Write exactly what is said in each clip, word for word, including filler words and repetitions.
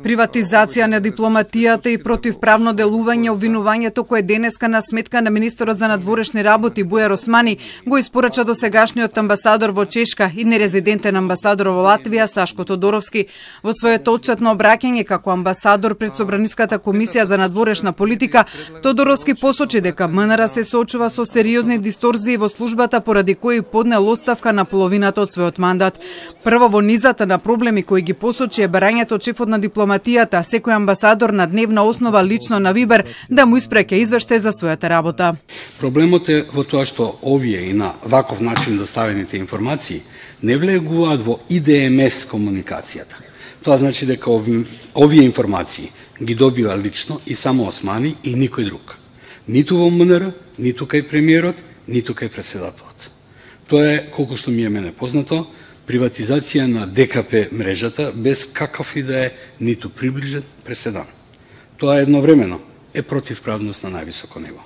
Приватизација на дипломатијата и противправно делување обвинувањето кое денеска на сметка на министерот за надворешни работи Бујар Османи го испорача досегашниот амбасадор во Чешка и нерезидентен амбасадор во Латвија Сашко Тодоровски. Во своето отчетно обраќање како амбасадор пред Собраниската комисија за надворешна политика, Тодоровски посочи дека МНР се соочува со сериозни дисторзии во службата поради кои поднел оставка на половината од својот мандат. Прво во низата на проблеми кои ги посочи е барањето од шефот на дипломатијата, секој амбасадор на дневна основа лично на Вибер да му испраќа извештај за својата работа. Проблемот е во тоа што овие и на ваков начин доставените информации не влегуваат во И Д М С комуникацијата. Тоа значи дека ови, овие информации ги добива лично и само Османи и никој друг. Ниту во М Н Р, ниту кај премиерот, ниту кај председателот. Тоа е, колку што ми е мене познато, приватизација на Д К П мрежата без какав и да е ниту приближен преседан. Тоа едновремено е противправност на највисоко ниво.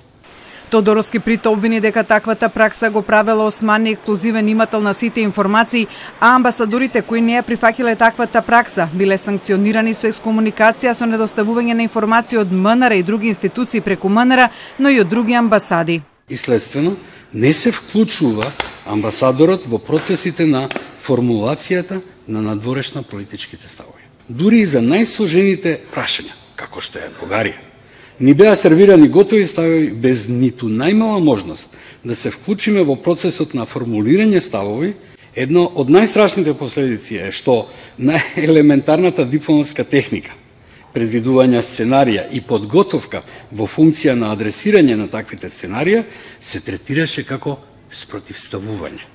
Тодоровски прито обвини дека таквата пракса го правела Османи ексклузивен имател на сите информации, а амбасадорите кои не ја прифаќале таквата пракса биле санкционирани со екскомуникација со недоставување на информации од М Н Р и други институции преку М Н Р, но и од други амбасади. И следствено не се вклучува амбасадорот во процесите на формулацијата на надворешна политичките ставови. Дури и за најсложените прашања, како што е Бугарија, ни беа сервирани готови ставови без ниту најмала можност да се вклучиме во процесот на формулирање ставови. Едно од најстрашните последици е што најелементарната дипломатска техника, предвидување сценарија и подготовка во функција на адресирање на таквите сценарија се третираше како спротивставување.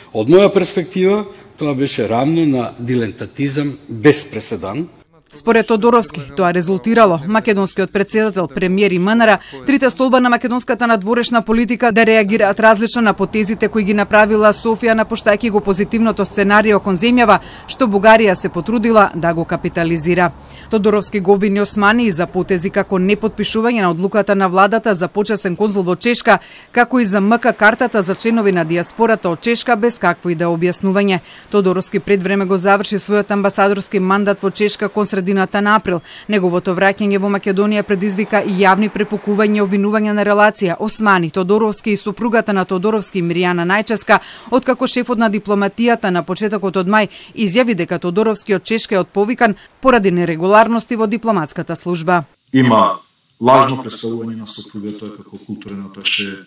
Од моја перспектива, тоа беше рамно на дилентатизам без преседан. Според Тодоровски, тоа резултирало македонскиот председател, премиер и М Н Р, трите столба на македонската надворешна политика да реагираат различно на потезите кои ги направила Софија напуштајќи го позитивното сценарио кон земјава, што Бугарија се потрудила да го капитализира. Тодоровски го обвини Османи и за потези како непотпишување на одлуката на владата за почесен конзул во Чешка, како и за М К картата за членови на диаспората од Чешка без какво и да објаснување. Тодоровски пред време го заврши својот амбасадорски мандат во Чешка кон средината на април. Неговото враќање во Македонија предизвика и јавни препукувања и обвинувања на релација Османи, Тодоровски и супругата на Тодоровски Миријана Најческа, откако шефот на дипломатијата на почетокот од мај изјави дека Тодоровски од Чешка е отповикан поради нерегуларности во дипломатската служба. Има лажно представување на супругата како културен аташе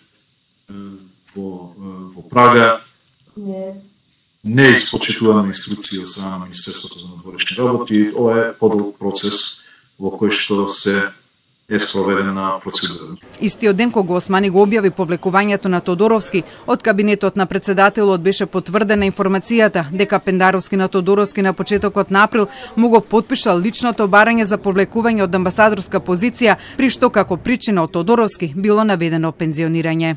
во во Прага. Не испочитуваме инструкции од страна на Министерството за надворешни работи. Ова е подолг процес во кој што се е спроведена процедура. Истиот ден кога Османи го објави повлекувањето на Тодоровски, од кабинетот на председателот беше потврдена информацијата дека Пендаровски на Тодоровски на почетокот на април му го потпишал личното барање за повлекување од амбасадорска позиција, при што како причина од Тодоровски било наведено пензионирање.